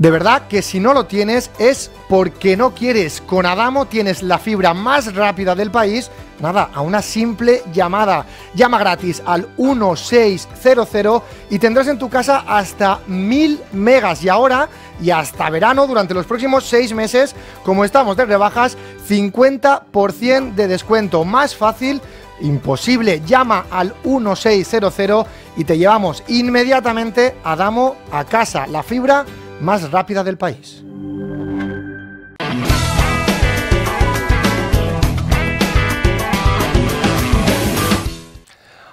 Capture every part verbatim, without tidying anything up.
De verdad que si no lo tienes es porque no quieres. Con Adamo tienes la fibra más rápida del país, nada, a una simple llamada. Llama gratis al uno seis cero cero y tendrás en tu casa hasta mil megas. Y ahora, y hasta verano, durante los próximos seis meses, como estamos de rebajas, cincuenta por ciento de descuento. Más fácil imposible. Llama al uno seis cero cero y te llevamos inmediatamente a Adamo a casa. La fibra más rápida del país.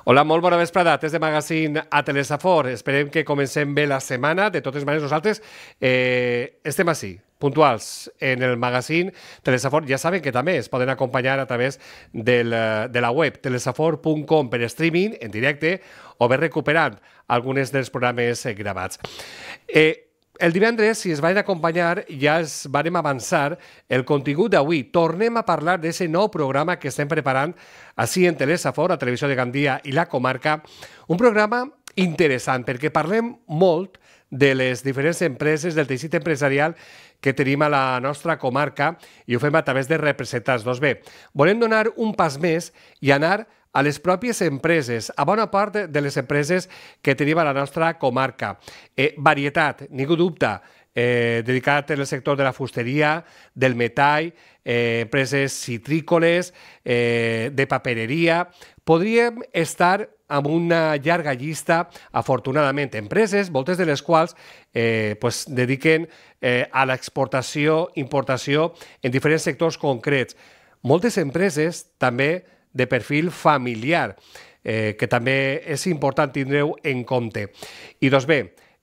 Hola, molt bona vesprada. Des de Magazine a Telesafor. Esperem que comencem bé la setmana. De totes maneres, nosaltres eh, estem així, puntuals en el magazine Telesafor. Ja saben que també es poden acompanyar a través del, de la web telesafor punt com per streaming, en directe, o bé recuperant algunes dels programes eh, gravats. Eh, el divendres, si es van acompanyar, ja es vam avançar el contingut d'avui. Tornem a parlar d'aquest nou programa que estem preparant així en Telesafor, a Televisió de Gandia i la comarca. Un programa interessant perquè parlem molt de les diferents empreses, del teixit empresarial que tenim a la nostra comarca i ho fem a través de representants. Doncs bé, volem donar un pas més i anar a les pròpies empreses, a bona part de les empreses que tenim a la nostra comarca. Eh, varietat, ningú dubte, eh, dedicat en el sector de la fusteria, del metall, eh, empreses citrícoles, eh, de papereria. Podríem estar amb una llarga llista, afortunadament, empreses, moltes de les quals eh, pues, dediquen eh, a l'exportació, importació en diferents sectors concrets. Moltes empreses també de perfil familiar, eh, que també és important tindre-ho en compte. I doncs bé,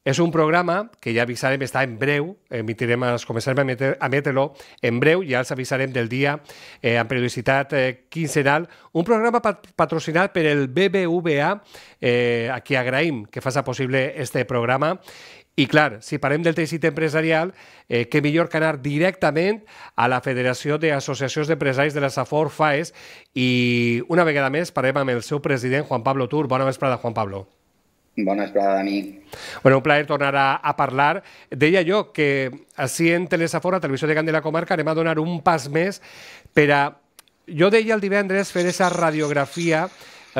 és un programa que ja avisarem, està en breu, emitirem, es començarem a emetre-lo en breu, ja els avisarem del dia eh, amb periodicitat eh, quinzenal, un programa pat patrocinat per el B B V A, eh, a qui agraïm que faci possible este programa. I clar, si parlem del teixit empresarial, eh, què millor que anar directament a la Federació d'Associacions d'Empresaris de la Safor FAES i una vegada més parlem amb el seu president, Juan Pablo Tur. Bona vesprada, Juan Pablo. Bona vesprada, Dani. Bueno, un plaer tornar a, a parlar. Deia jo que així en Telesafor, a Televisió de Gandia de la comarca, anem a donar un pas més per a, jo deia el divendres, fer aquesta radiografia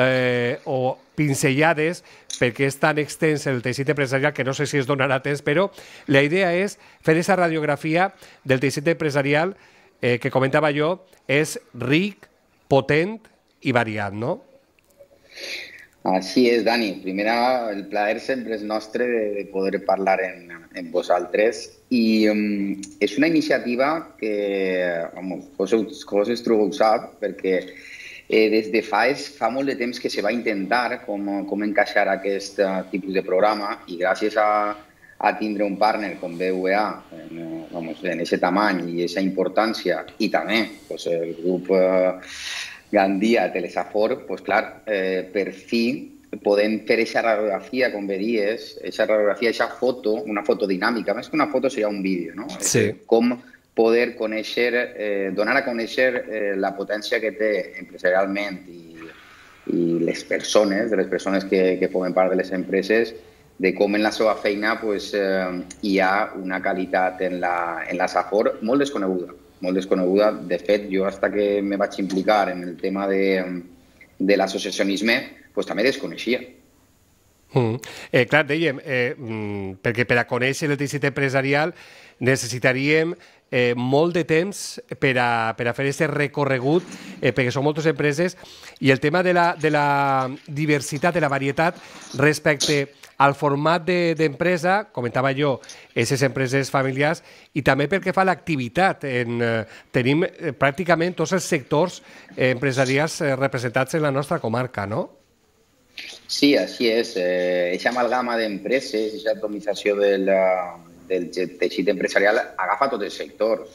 eh, o pincellades, perquè és tan extens el teixit empresarial que no sé si es donarà temps, però la idea és fer aquesta radiografia del teixit empresarial eh, que comentava jo, és ric, potent i variat, no? Així és, Dani. Primera, el plaer sempre és nostre de, de poder parlar en, en vosaltres i um, és una iniciativa que, vamos, vosaltres ho sap, perquè Eh, des de FAES fa molt de temps que se va intentar com, com encaixar aquest uh, tipus de programa i gràcies a, a tindre un partner com B V A en, vamos, en ese tamany i esa importància i també pues, el grup uh, Gandia, Telesafor, pues, clar, eh, per fi podem fer aquesta radiografia, com veies, aquesta radiografia, aquesta foto, una foto dinàmica, més que una foto seria un vídeo, no? Sí. Com poder conèixer, eh, donar a conèixer eh, la potència que té empresarialment i, i les persones, de les persones que, que formen part de les empreses, de com en la seva feina pues, eh, hi ha una qualitat en la, en la Safor molt desconeguda. Molt desconeguda. De fet, jo fins que me vaig implicar en el tema de, de l'associacionisme, pues, també desconeixia. Mm. Eh, clar, dèiem, eh, mm, perquè per a conèixer el teixit empresarial necessitaríem eh, molt de temps per a, per a fer aquest recorregut, eh, perquè són moltes empreses, i el tema de la, de la diversitat, de la varietat respecte al format d'empresa, de, comentava jo, aquestes empreses familiars, i també pel que fa a l'activitat. Eh, tenim eh, pràcticament tots els sectors eh, empresarials eh, representats en la nostra comarca, no? Sí, així és. Aquesta amalgama d'empreses, aquesta atomització del, del teixit empresarial agafa tots els sectors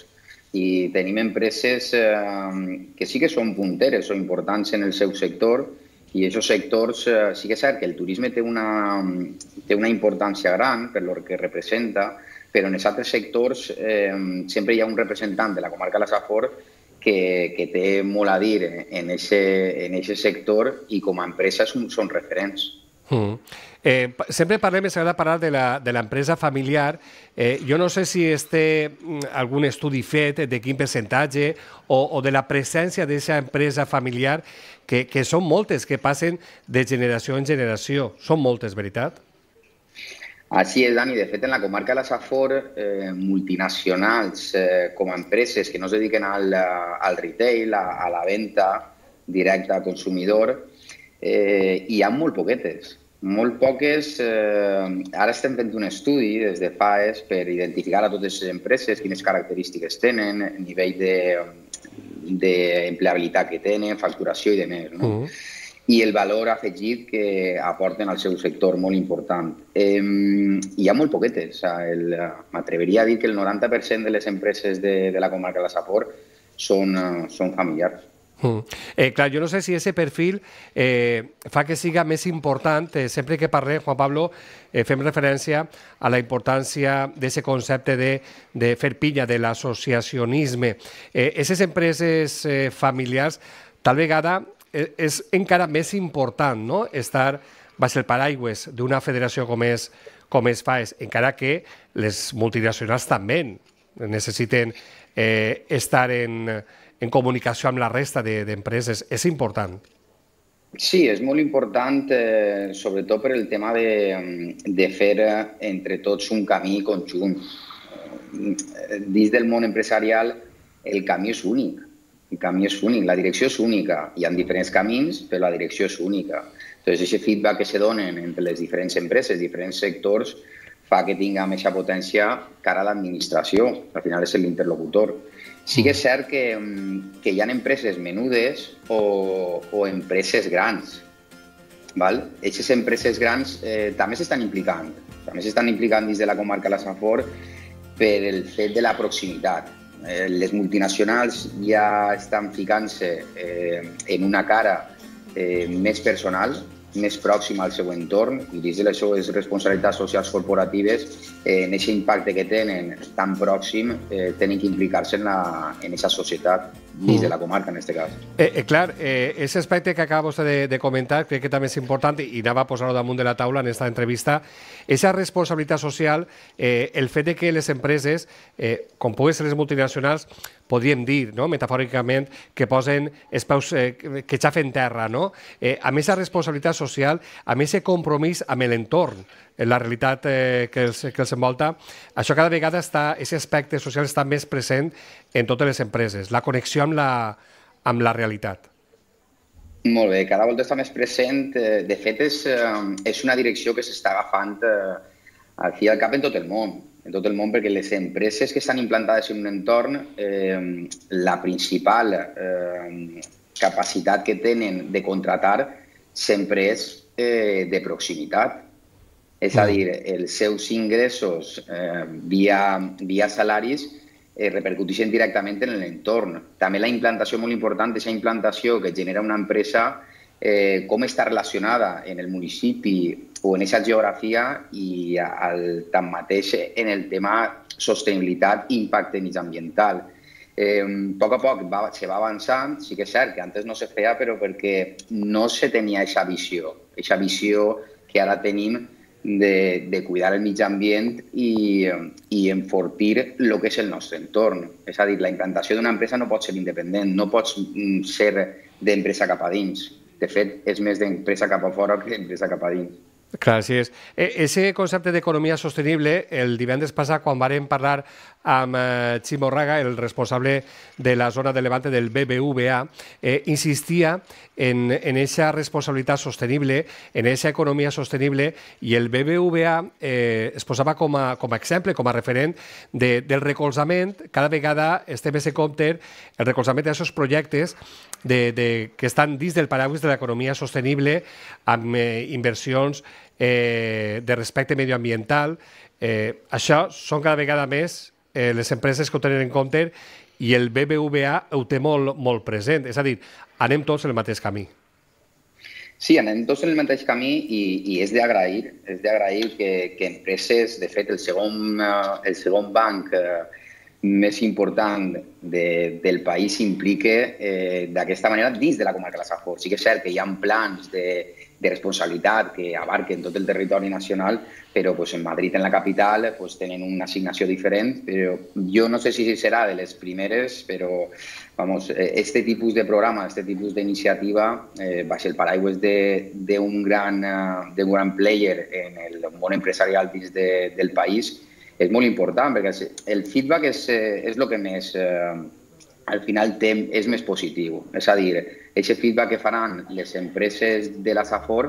i tenim empreses que sí que són punteres o importants en el seu sector i aquests sectors sí que és cert que el turisme té una, té una importància gran per el que representa, però en els altres sectors eh, sempre hi ha un representant de la comarca de la Safor que, que té molt a dir en aquest en sector i com a empresa són, són referents. Mm. Eh, sempre parlem, ens agrada parlar de l'empresa familiar. Eh, jo no sé si es té algun estudi fet de quin percentatge o, o de la presència d'aquesta empresa familiar, que, que són moltes, que passen de generació en generació. Són moltes, veritat? Así es, Dani. De fet, en la comarca de la Safor, eh, multinacionals eh, com a empreses que no es dediquen al, al retail, a, a la venda directa al consumidor, eh, hi ha molt poquetes. Molt poques. Eh, ara estem fent un estudi des de FAES per identificar a totes les empreses quines característiques tenen, nivell d'empleabilitat que tenen, facturació i demés, no? Uh -huh. I el valor afegit que aporten al seu sector, molt important. Eh, hi ha molt poquetes. M'atreveria a dir que el noranta per cent de les empreses de, de la comarca de la Safor són, uh, són familiars. Mm. Eh, clar, jo no sé si aquest perfil eh, fa que siga més important. Eh, sempre que parlem, Juan Pablo, eh, fem referència a la importància d'aquest concepte de, de fer pilla de l'associacionisme. Aquestes eh, empreses eh, familiars, tal vegada, eh, és encara més important, no?, estar baix el paraigües d'una federació com és, com és FAES, encara que les multinacionals també necessiten eh, estar en en comunicació amb la resta d'empreses. És important. Sí, és molt important, eh, sobretot per el tema de, de fer entre tots un camí conjunt. Dins del món empresarial, el camí és únic. El camí és únic, la direcció és única. Hi ha diferents camins, però la direcció és única. Entonces, aquest feedback que se donen entre les diferents empreses, diferents sectors, fa que tinguem aquesta potència cara a l'administració. Al final és l'interlocutor. Sí que és cert que, que hi ha empreses menudes o, o empreses grans. Aquestes empreses grans eh, també s'estan implicant. També s'estan implicant dins de la comarca de la Safor per el fet de la proximitat. Eh, les multinacionals ja estan ficant-se eh, en una cara eh, més personal, més pròxima al seu entorn, i dins de les seves responsabilitats socials corporatives, eh, en aquest impacte que tenen tan pròxim, eh, tenen que implicar-se en aquesta societat, dins de la comarca, en aquest cas. Eh, eh, clar, eh, ese aspecte que acaba vostè de, de comentar, crec que també és important, i anava a posar-ho damunt de la taula en aquesta entrevista, aquesta responsabilitat social, eh, el fet de que les empreses, eh, com poden ser les multinacionals, podríem dir, no?, metafòricament, que posen els peus, eh, que xafen terra, no? Eh, amb aquesta responsabilitat social, amb aquest compromís amb l'entorn, la realitat eh, que, els, que els envolta, això cada vegada està, aquest aspecte social està més present en totes les empreses, la connexió amb la, amb la realitat. Molt bé, cada volta està més present. De fet, és, és una direcció que s'està agafant eh, al fi i al cap en tot el món. En tot el món, perquè les empreses que estan implantades en un entorn, eh, la principal eh, capacitat que tenen de contratar sempre és eh, de proximitat. És a dir, els seus ingressos eh, via, via salaris eh, repercuteixen directament en l'entorn. També la implantació, molt important, aquesta implantació que genera una empresa, eh, com està relacionada en el municipi o en aquesta geografia i al, tanmateix en el tema sostenibilitat i impacte mitjanambiental. Eh, a poc a poc va, se va avançant, sí que és cert que antes no se feia, però perquè no se tenia aquesta visió, aquesta visió que ara tenim de, de cuidar el mig ambient i, i enfortir el que és el nostre entorn. És a dir, la implantació d'una empresa no pot ser independent, no pots ser d'empresa cap a dins. De fet, és més d'empresa cap a fora que d'empresa cap a dins. Clar, així és. Ese concepte d'economia sostenible, el divendres passat, quan vàrem parlar amb Ximo Raga, el responsable de la zona de Levante del B B V A, eh, insistia en aquesta responsabilitat sostenible, en aquesta economia sostenible, i el B B V A eh, es posava com a, com a exemple, com a referent de, del recolzament. Cada vegada estem més en compte el recolzament d'aquests projectes de, de, que estan dins del paraigües de l'economia sostenible, amb eh, inversions eh, de respecte medioambiental. Eh, això són cada vegada més eh, les empreses que ho tenen en compte, i el B B V A ho té molt, molt present. És a dir, anem tots en el mateix camí. Sí, anem tots en el mateix camí i, i és d'agrair, és d'agrair que, que empreses, de fet, el segon, el segon banc més important de, del país s'implique eh, d'aquesta manera dins de la comarca de la Safor. Sí que és cert que hi ha plans de, de responsabilitat que abarquen tot el territori nacional, però pues, en Madrid, en la capital, pues, tenen una assignació diferent. Però jo no sé si serà de les primeres, però vamos, este tipus de programa, este tipus d'iniciativa, eh, baix el paraigües d'un gran, uh, d'un gran player en el món empresarial dins de, del país, és molt important, perquè el feedback és, és el que més, eh, al final té, és més positiu. És a dir, aquest feedback que faran les empreses de la Safor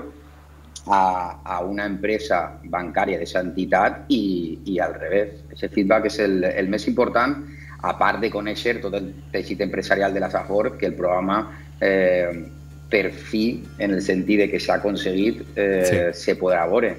a, a una empresa bancària d'aquesta entitat i, i al revés. Aquest feedback és el, el més important, a part de conèixer tot el teixit empresarial de la Safor, que el programa eh, per fi, en el sentit de que s'ha aconseguit, eh, sí. se podrà veure.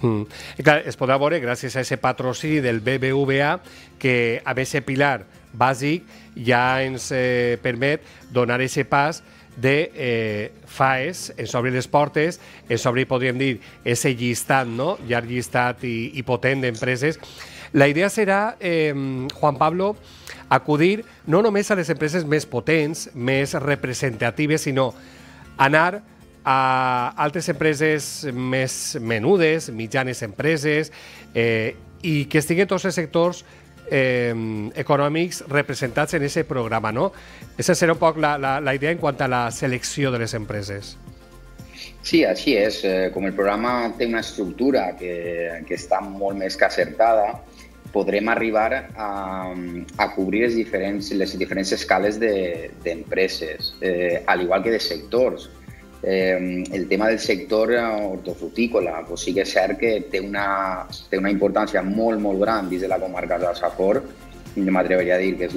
Mm. I clar, es podrà veure gràcies a aquest patrocini del B B V A que a més pilar bàsic ja ens eh, permet donar aquest pas de eh, FAES, ens obri les portes, ens obri, podríem dir, aquest llistat, no? Llarg llistat i, i potent d'empreses. La idea serà, eh, Juan Pablo, acudir no només a les empreses més potents, més representatives, sinó anar a altres empreses més menudes, mitjanes empreses, eh, i que estiguen tots els sectors eh, econòmics representats en aquest programa, no? Esa serà un poc la, la, la idea en quant a la selecció de les empreses. Sí, així és. Com el programa té una estructura que, que està molt més que acertada, podrem arribar a, a cobrir les diferents, les diferents escales d'empreses, de, eh, al igual que de sectors. Eh, el tema del sector hortofrutícola, pues sí que és cert que té una, té una importància molt, molt gran dins de la comarca de la Safor. Jo m'atreveria a dir que és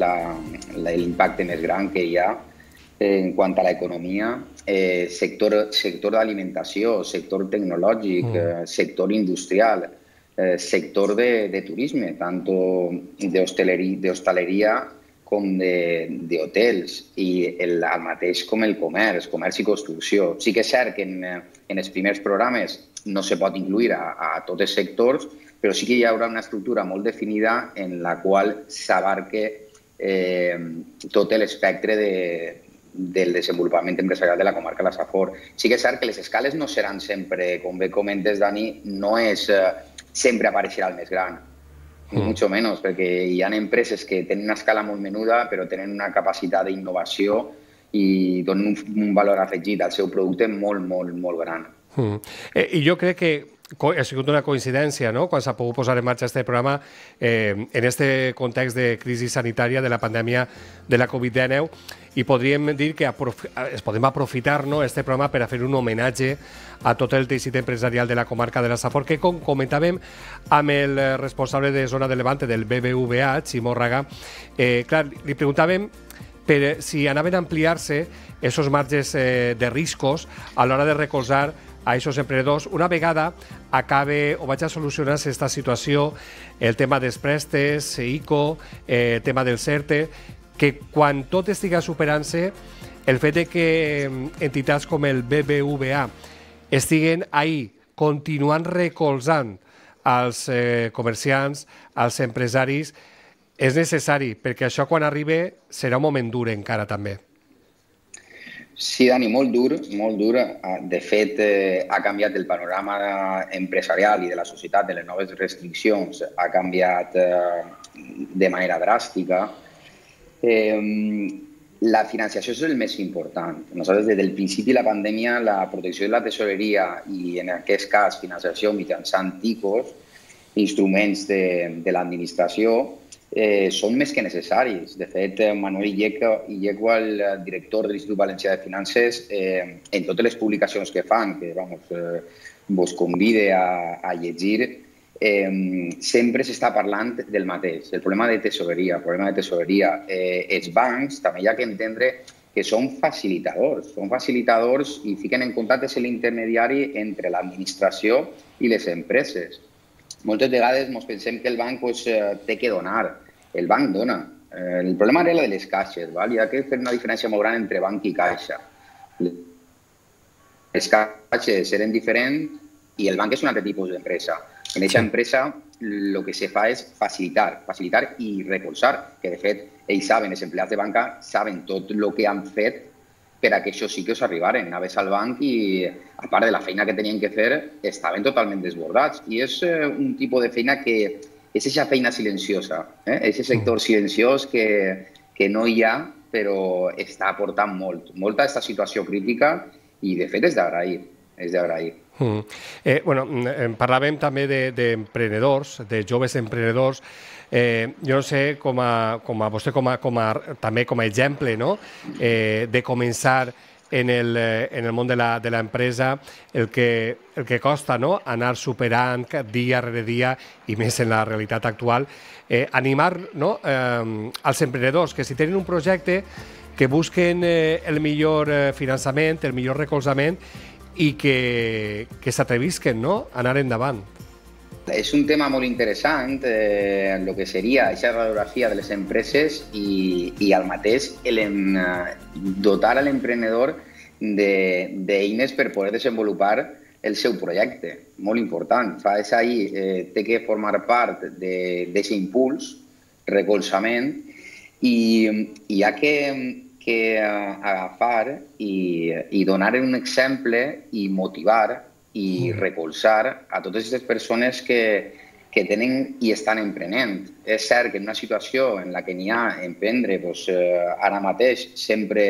l'impacte més gran que hi ha eh, en quant a l'economia. Eh, sector sector d'alimentació, sector tecnològic, mm. eh, sector industrial, eh, sector de, de turisme, tant d'hostaleria com d'hotels, i el, el mateix com el comerç, comerç i construcció. Sí que és cert que en, en els primers programes no se pot incluir a, a tots els sectors, però sí que hi haurà una estructura molt definida en la qual s'abarque eh, tot l'espectre de, del desenvolupament empresarial de la comarca de la Safor. Sí que és cert que les escales no seran sempre, com bé comentes, Dani, no és eh, sempre apareixerà el més gran, ni mucho menos, perquè hi ha empreses que tenen una escala molt menuda però tenen una capacitat d'innovació i donen un, un valor afegit al seu producte molt, molt, molt gran. Mm. Eh, I jo crec que ha sigut una coincidència, no?, quan s'ha pogut posar en marxa aquest programa eh, en aquest context de crisi sanitària de la pandèmia de la Covid dinou, i podríem dir que es podem aprofitar, no?, este programa per a fer un homenatge a tot el teixit empresarial de la comarca de la Safor, que, com comentàvem amb el responsable de zona de Levante del B B V A, Ximo Raga, eh, clar, li preguntàvem per si anaven a ampliar-se aquests marges eh, de riscos a l'hora de recolzar a aquests emprenedors una vegada acabe o vaig a solucionar aquesta situació, el tema dels préstes, ICO, eh, el tema del CERTE, que quan tot estiga superant-se, el fet de que entitats com el B B V A estiguen ahí continuant recolzant als eh, comerciants, als empresaris, és necessari, perquè això quan arribi serà un moment dur encara també. Sí, Dani, molt dur, molt dur. De fet, eh, ha canviat el panorama empresarial i de la societat, de les noves restriccions, ha canviat eh, de manera dràstica. Eh, la financiació és el més important. Nosaltres, des del principi de la pandèmia, la protecció de la tesoreria i, en aquest cas, financiació mitjançant ticos, instruments de, de l'administració, Eh, són més que necessaris. De fet, Manuel Illegua, el director de l'Institut Valencià de Finances, eh, en totes les publicacions que fan, que vamos, eh, vos convide a, a llegir, eh, sempre s'està parlant del mateix, el problema de tesoreria. El problema de tesoreria. Eh, els bancs també hi ha que entendre que són facilitadors, són facilitadors i fiquen en contacte l'intermediari entre l'administració i les empreses. Moltes vegades ens pensem que el banc pues, té que donar. El banc dona. El problema era el de les caixes. Val? Hi ha que fer una diferència molt gran entre banc i caixa. Les caixes eren diferents i el banc és un altre tipus d'empresa. En aquesta empresa el que se fa és facilitar, facilitar i recolzar, que de fet ells saben, els empleats de banca saben tot el que han fet per a que això sí que us arribaren. Anaves al banc i, a part de la feina que tenien que fer, estaven totalment desbordats. I és un tipus de feina que és aquesta feina silenciosa, eh? És aquest sector silenciós que, que no hi ha, però està aportant molt, molta aquesta situació crítica i, de fet, és d'agrair, és d'agrair. Mm. Eh, bueno, parlàvem també d'emprenedors, de, de joves emprenedors. Eh, jo no sé, com a, com a vostè com a, com a, també com a exemple, no? eh, de començar en el, en el món de l'empresa, el, que, el que costa, no? Anar superant dia rere dia, i més en la realitat actual, eh, animar, no? eh, als emprenedors que si tenen un projecte que busquen eh, el millor eh, finançament, el millor recolzament, i que, que s'atrevisquen, no? A anar endavant. És un tema molt interessant, eh, el que seria aquesta radiografia de les empreses i, i al mateix el, dotar a l'emprenedor d'eines per poder desenvolupar el seu projecte. Molt important. Fa és ahir, eh, té que formar part d'aquest impuls, recolzament, i, i hi ha que, que agafar i, i donar un exemple i motivar i recolzar a totes aquestes persones que, que tenen i estan emprenent. És cert que en una situació en la que n'hi ha emprendre, doncs, eh, ara mateix sempre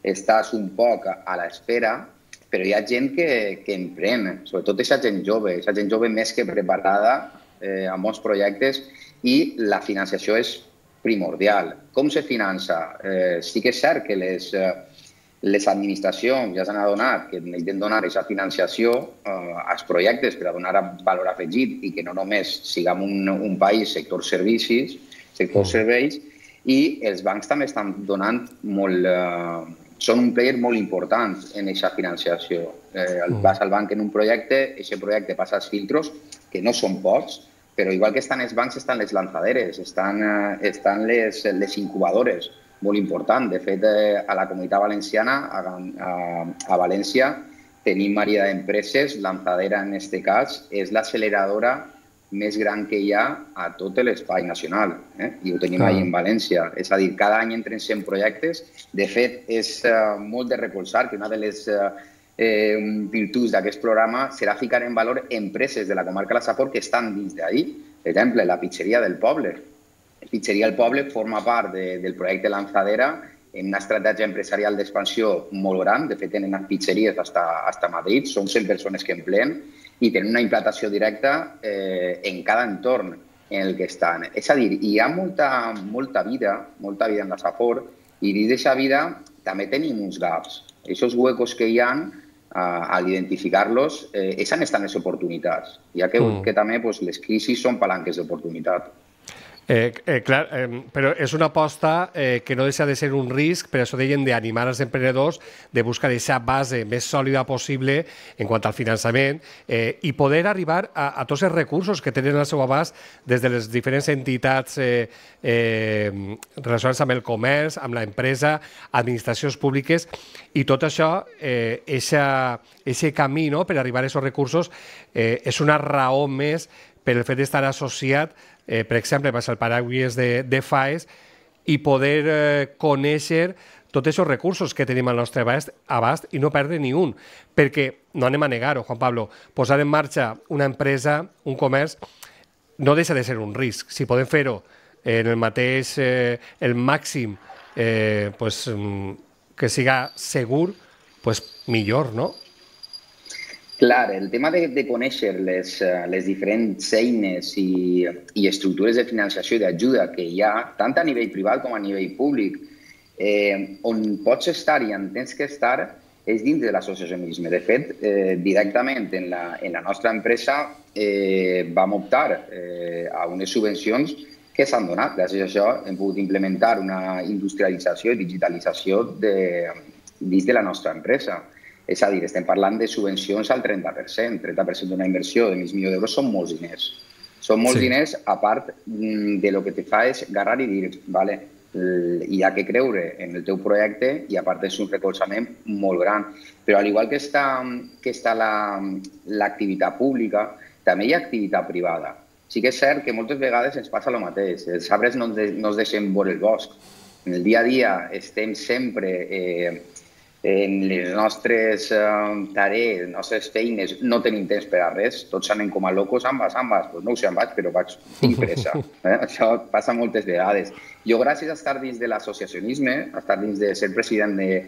estàs un poc a l'espera, però hi ha gent que, que emprèn, sobretot aquesta gent jove, aquesta gent jove més que preparada eh, a molts projectes, i la financiació és primordial. Com se finança? Eh, sí que és cert que les... Eh, Les administracions ja s'han adonat que necessiten donar aquesta financiació eh, als projectes per a donar valor afegit i que no només siguem un, un país sector servicis, sector serveis, i els bancs també estan donant molt... Eh, són un player molt important en aquesta financiació. Eh, vas al banc en un projecte, aquest projecte passa als filtros, que no són pocs, però igual que estan els bancs, estan les lanzaderes, estan, eh, estan les, les incubadores, molt important. De fet, a la Comunitat Valenciana, a, a, a València, tenim Maria d'Empreses, Lanzadera en aquest cas, és l'acceleradora més gran que hi ha a tot l'espai nacional, eh? I ho tenim ah. ahí en València. És a dir, cada any entren cent projectes. De fet, és uh, molt de recolzar que una de les uh, eh, virtuts d'aquest programa serà ficar en valor empreses de la comarca de la Safor que estan dins d'ahí. Per exemple, la pizzeria del poble. Pizzeria El Poble forma part de, del projecte Lanzadera en una estratègia empresarial d'expansió molt gran. De fet, tenen pizzeries fins a Madrid, són cent persones que empleen i tenen una implantació directa eh, en cada entorn en el que estan. És a dir, hi ha molta, molta vida, molta vida en la Safor, i dins d'aquesta vida també tenim uns gaps. Aquests huecos que hi ha, eh, al identificar-los, eh, és on estan les oportunitats. Ja que, mm. que també pues, les crisis són palanques d'oportunitat. Eh, eh, clar, eh, però és una aposta eh, que no deixa de ser un risc, per això deien d'animar els emprenedors de buscar aquesta base més sòlida possible en quant al finançament eh, i poder arribar a, a tots els recursos que tenen al seu abast des de les diferents entitats eh, eh, relacionades amb el comerç, amb l'empresa, administracions públiques, i tot això, eh, eixe camí, no?, per arribar a aquests recursos eh, és una raó més per el fet d'estar associat, eh, per exemple, amb el paraigües de, de F A E S i poder eh, conèixer tots aquests recursos que tenim al nostre abast, abast i no perdre ni un. Perquè, no anem a negar-ho, Juan Pablo, posar en marxa una empresa, un comerç, no deixa de ser un risc. Si podem fer-ho en el mateix, eh, el màxim, eh, pues, que siga segur, pues millor, no? Clar, el tema de, de conèixer les, les diferents eines i, i estructures de financiació i d'ajuda que hi ha, tant a nivell privat com a nivell públic, eh, on pots estar i on tens que estar és dins de l'associacionisme. De fet, eh, directament en la, en la nostra empresa eh, vam optar eh, a unes subvencions que s'han donat. Gràcies a això hem pogut implementar una industrialització i digitalització de, dins de la nostra empresa. És a dir, estem parlant de subvencions al trenta per cent. trenta per cent d'una inversió de mig milió d'euros són molts diners. Són molts sí. diners, a part de lo que te fa és agarrar i dir, vale, hi ha que creure en el teu projecte i a part és un recolzament molt gran. Però al igual que està, que està l'activitat pública, també hi ha activitat privada. sí que és cert que moltes vegades ens passa el mateix. Els arbres no, de, no es deixen veure el bosc. En el dia a dia estem sempre eh, en les nostres eh, tarees, les nostres feines, no tenim temps per a res. Tots anem com a locos, se'n vas, se'n vas. Pues no ho sé, se'n vaig, però vaig, tinc pressa. Eh? Això passa moltes vegades. Jo, gràcies a estar dins de l'associacionisme, a estar dins de ser president de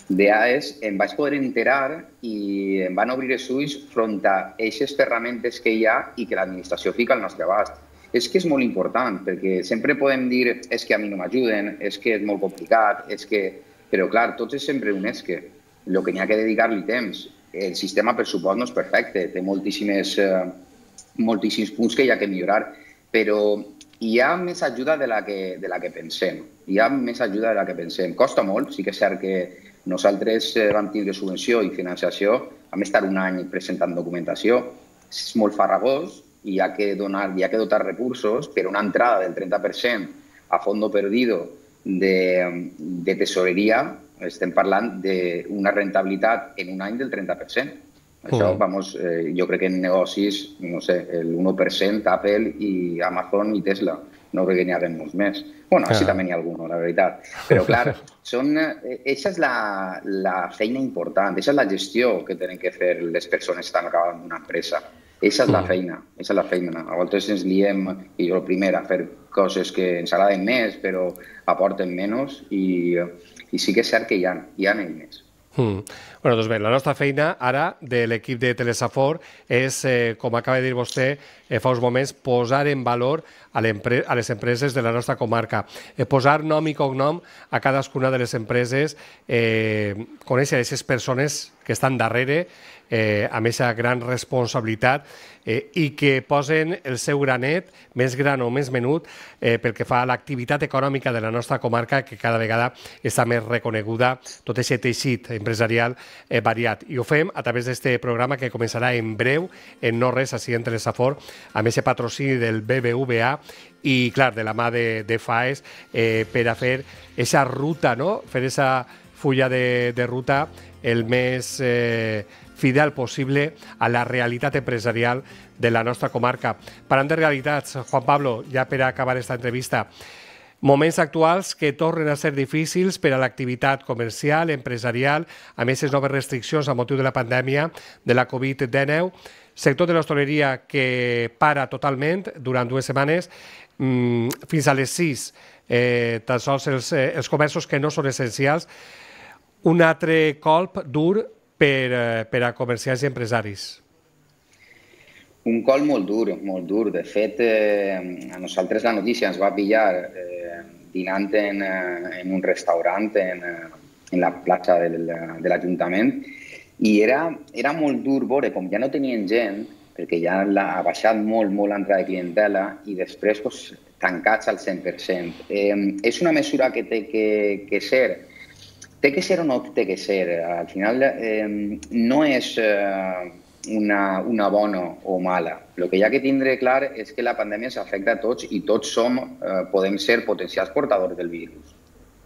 d'A E S, em vaig poder enterar i em van obrir els ulls front a aquestes ferramentes que hi ha i que l'administració fica al nostre abast. És que és molt important, perquè sempre podem dir és que a mi no m'ajuden, és que és molt complicat, és que... Però, clar, tots és sempre un és que. El que n'hi ha que dedicar-li temps. El sistema, per supost, no és perfecte, té moltíssimes, eh, moltíssims punts que hi ha que millorar, però hi ha més ajuda de la que, de la que pensem. Hi ha més ajuda de la que pensem. Costa molt, sí que és cert que nosaltres vam tindre subvenció i financiació, vam estar un any presentant documentació, és molt farragós i hi ha que donar, hi ha que dotar recursos per una entrada del trenta per cent a fondo perdido de, de tesoreria, estem parlant d'una rentabilitat en un any del trenta per cent. Això, vamos, eh, jo crec que en negocis, no sé, el u per cent, Apple i Amazon i Tesla. No crec que n'hi haguem molts més. Bueno, així també n'hi ha algun, la veritat. Però, clar, són, eh, eixa és la, la feina important, eixa és la gestió que tenen que fer les persones que estan acabant d'una empresa. Eixa és la feina, eixa és la feina. A vegades ens liem, i jo primer, a fer coses que ens agraden més, però aporten menys, i, i sí que és cert que hi ha, hi ha eines. Mm. Bueno, doncs bé, la nostra feina ara de l'equip de Telesafor és, eh, com acaba de dir vostè eh, fa uns moments, posar en valor a, a les empreses de la nostra comarca, eh, posar nom i cognom a cadascuna de les empreses, eh, conèixer aquestes persones que estan darrere, eh, amb aquesta gran responsabilitat eh, i que posen el seu granet, més gran o més menut, eh, pel que fa a l'activitat econòmica de la nostra comarca, que cada vegada està més reconeguda, tot aquest teixit empresarial eh, variat. I ho fem a través d'aquest programa que començarà en breu, en no res, així en Telesafor, amb aquest patrocini del B B V A i, clar, de la mà de, de FAES, eh, per a fer aquesta ruta, no? Fer aquesta fulla de, de ruta el més eh, fidel possible a la realitat empresarial de la nostra comarca. Parlant de realitats, Juan Pablo, ja per acabar aquesta entrevista, moments actuals que tornen a ser difícils per a l'activitat comercial, empresarial, amb aquestes noves restriccions a motiu de la pandèmia de la Covid dinou, sector de l'hostaleria que para totalment durant dues setmanes, mmm, fins a les sis, eh, tan sols els, eh, els comerços que no són essencials, un altre colp dur per, eh, per a comerciants i empresaris. Un col molt dur, molt dur. De fet, eh, a nosaltres la notícia ens va pillar eh, dinant en, en un restaurant en, en la plaça de l'Ajuntament i era, era molt dur veure com ja no tenien gent, perquè ja ha baixat molt, molt l'entrada de clientela i després pues, tancats al cent per cent. Eh, és una mesura que té que, que ser Té que ser o no té que ser. Al final eh, no és eh, una, una bona o mala. El que hi ha que tindre clar és que la pandèmia s'afecta a tots i tots som, eh, podem ser potencials portadors del virus.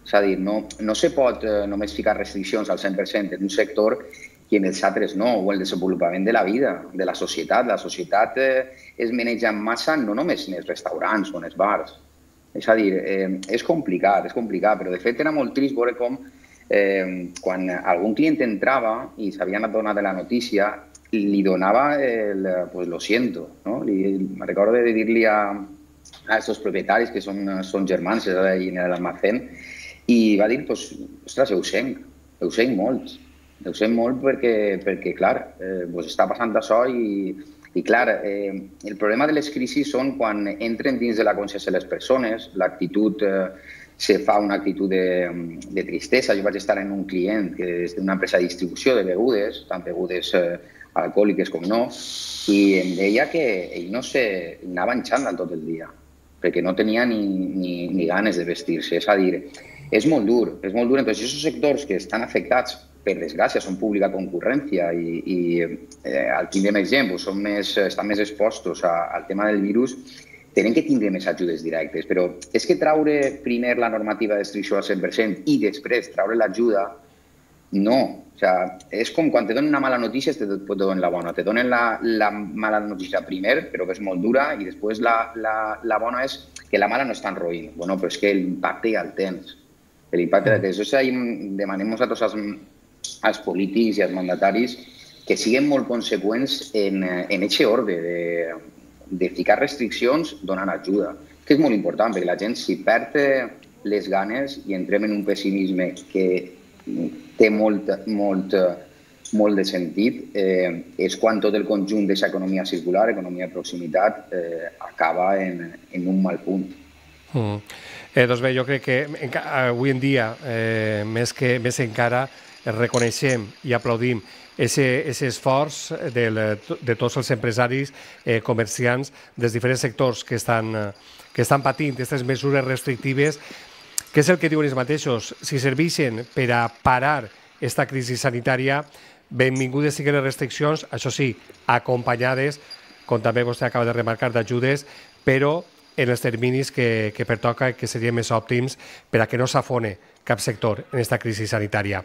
És a dir, no, no se pot eh, només ficar restriccions al cent per cent en un sector i en els altres no, o el desenvolupament de la vida, de la societat. La societat eh, es maneja en massa no només en els restaurants o en els bars. És a dir, eh, és complicat, és complicat, però de fet era molt trist veure com Eh, quan algun client entrava i s'havien adonat de la notícia, li donava el pues, lo siento. No? Li, me recordo de dir-li a, a aquests propietaris, que són, són germans en l'almacén, i va dir, pues, ostres, ho sent, ho sent molt. Ho sent molt perquè, perquè clar, eh, pues, està passant això i, i clar, eh, el problema de les crisis són quan entren dins de la consciència de les persones, l'actitud eh, se fa una actitud de, de tristesa. Jo vaig estar en un client que és d'una empresa de distribució de begudes, tant begudes eh, alcohòliques com no, i em deia que ell no se anava en xandall tot el dia, perquè no tenia ni, ni, ni ganes de vestir-se. És a dir, és molt dur, és molt dur. Entonces, aquests sectors que estan afectats, per desgràcia, són pública concurrència i, i eh, al tindrem exemple, són més, estan més expostos a, al tema del virus, tenen que tindre més ajudes directes, però és que traure primer la normativa de restricció al cent per cent i després traure l'ajuda no. O sea, és com quan te donen una mala notícia te donen la bona. Te donen la, la mala notícia primer, però que és molt dura, i després la, la, la bona és que la mala no és tan roïn. Bueno, però és que l'impacte ja el tens. L'impacte ja el tens. Això demanem a tots els, els polítics i els mandataris que siguin molt conseqüents en aquest ordre de, de ficar restriccions donant ajuda, que és molt important, perquè la gent si perd les ganes i entrem en un pessimisme que té molt, molt, molt de sentit, eh, és quan tot el conjunt d'aquesta economia circular, economia de proximitat, eh, acaba en, en un mal punt. Mm. Eh, doncs bé, jo crec que avui en dia, eh, més, que, més encara, reconeixem i aplaudim aquest esforç del, de tots els empresaris, eh, comerciants dels diferents sectors que estan, que estan patint aquestes mesures restrictives, que és el que diuen ells mateixos. Si serveixen per a parar aquesta crisi sanitària, benvingudes siguin les restriccions, això sí, acompanyades, com també vostè acaba de remarcar, d'ajudes, però en els terminis que, que pertoca i que serien més òptims per a que no s'afone cap sector en aquesta crisi sanitària.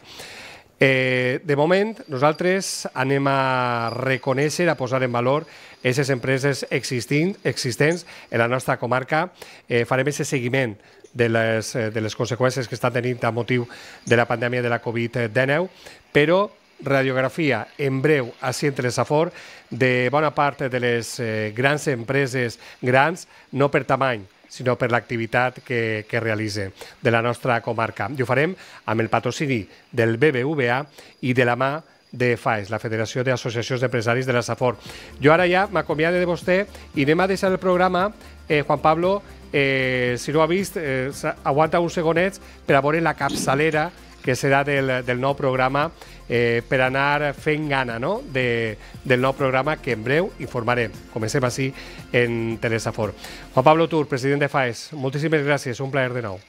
Eh, de moment, nosaltres anem a reconèixer, a posar en valor aquestes empreses existents, existents en la nostra comarca. Eh, farem aquest seguiment de les, de les conseqüències que està tenint a motiu de la pandèmia de la Covid dinou, però radiografia en breu així en Telesafor de bona part de les eh, grans empreses grans, no per tamany, sinó per l'activitat que, que realitzen de la nostra comarca. I ho farem amb el patrocini del B B V A i de la mà de F A E S, la Federació d'Associacions d'Empresaris de la Safor. Jo ara ja m'acomiade de vostè i anem a deixar el programa, eh, Juan Pablo, eh, si no ho ha vist, eh, aguanta uns segonets per a veure la capçalera que serà del, del nou programa, eh, per anar fent gana, no?, de, del nou programa que en breu informarem. Comencem així en Telesafor. Juan Pablo Tur, president de F A E S, moltíssimes gràcies, un plaer de nou.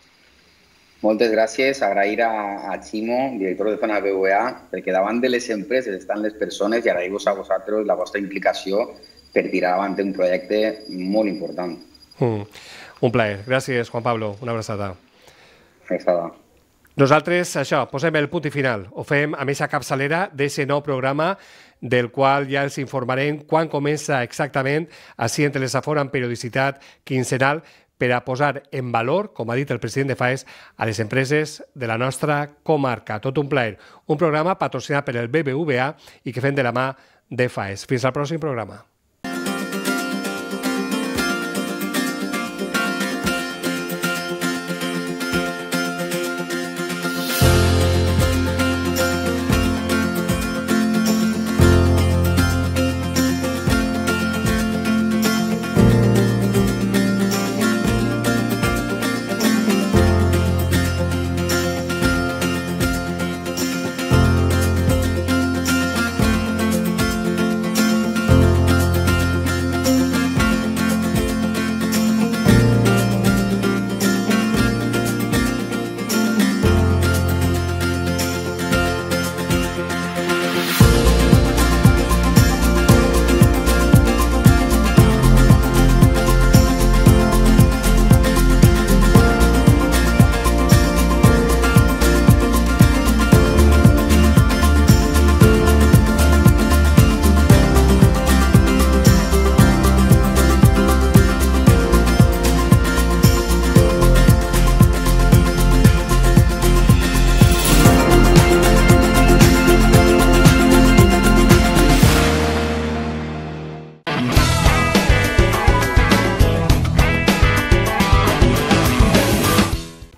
Moltes gràcies, agrair a, a Ximo, director de Zona B B V A, perquè davant de les empreses estan les persones i agrair-vos a vosaltres la vostra implicació per tirar davant un projecte molt important. Mm. Un plaer. Gràcies, Juan Pablo. Una abraçada. Abraçada. Nosaltres, això, posem el punt i final. Ho fem amb aquesta capçalera d'aquest nou programa del qual ja els informarem quan comença exactament així en Telesafor amb periodicitat quinzenal per a posar en valor, com ha dit el president de F A E S, a les empreses de la nostra comarca. Tot un plaer. Un programa patrocinat per el B B V A i que fem de la mà de F A E S. Fins al pròxim programa.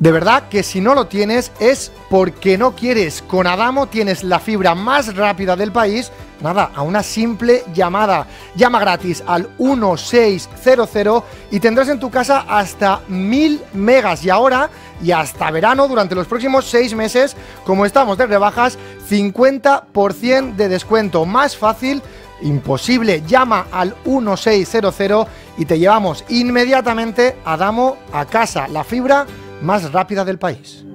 De verdad que si no lo tienes es porque no quieres. Con Adamo tienes la fibra más rápida del país, nada, a una simple llamada. Llama gratis al uno seis cero cero y tendrás en tu casa hasta mil megas. Y ahora, y hasta verano, durante los próximos seis meses, como estamos de rebajas, cincuenta por ciento de descuento. Más fácil, imposible. Llama al uno seis cero cero y te llevamos inmediatamente Adamo a casa. La fibra más rápida del país.